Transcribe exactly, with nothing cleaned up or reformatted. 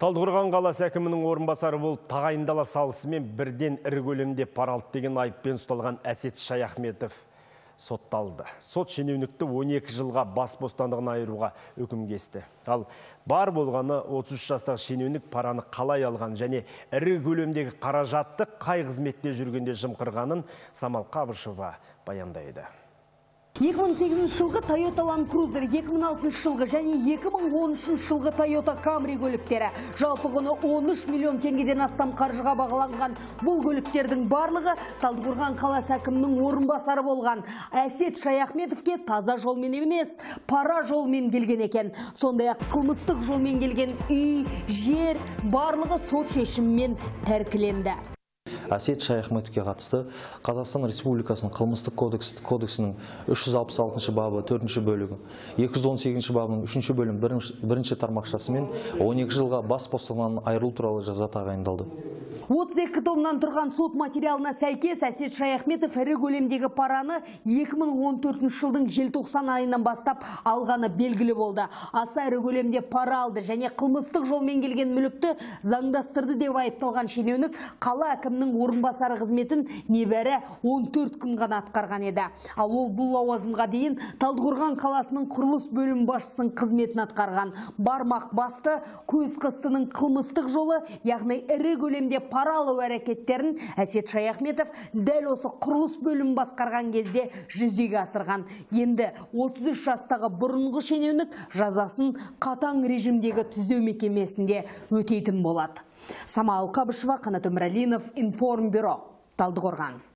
Талдықорған қаласы әкімінің орынбасары болып тағайындала салысымен бірден ірі көлемде пара алды деген айыппен ұсталған Әсет Шаяхметов сотталды. Сот шенеунікті он екі жылға бас бостандығын айыруға үкім кесті. Ал бар болғаны отыз үш жастағы шенеунік параны қалай алған және ірі көлемдегі қаражатты қай қызметте жүргенде жымқырғанын Самал Қабышева баяндайды. екі мың сегізінші жылғы Toyota Land Cruiser, екі мың алтыншы жылғы және екі мың он үшінші жылғы Toyota Camry көліктері жалпы құны он үш миллион теңгеден астам қаржыға бағаланған бұл көліктердің барлығы Талдықорған қаласы әкімінің орынбасары болған Әсет Шаяхметовке таза жолмен емес, пара жолмен келген екен. Сондай-ақ қылмыстық жолмен келген үй, жер барлығы сот шешімімен тәркіленді. Әсет Шаяхметовке қатысты Қазақстан Республикасының қылмыстық кодексінің үш жүз алпыс алтыншы бабы төртінші бөлігі, екі жүз он сегізінші бабының үшінші бөлім бірінші тармақшасымен он екі жылға бас бостандығынан айырылу туралы жаза тағайындалды. отыз екі томнан тұрған сот материалына сәйкес Әсет Шаяхметов ірі көлемдегі параны екі мың он төртінші жылдың желтоқсан айынан бастап алғаны белгілі болды. Аса ірі көлемде пара алды және қылмыстық жолмен келген мүлікті заңдастырды деп айыпталған шенеунік қала әкімінің орынбасары қызметін небәрі он төрт күн ғана атқарған еді. Ал ол бұл лауазымға дейін Талдықорған қаласының құрылыс бөлім басшысының қызметін атқарған. Бармақ басты көз қыстының қылмыстық жолы, яғни ірі көлемде пара алу әрекеттерін Әсет Шаяхметов дәл осы құрылыс бөлім басқарған кезде жүзеге асырған. Енді отыз үш жастағы бұрынғы шенеунік жазасын қатаң режимдегі түзеу мекемесінде өтейтін болады. Самал Қабышева, Қанат Өмірәлинов, Информбюро, Талдықорған.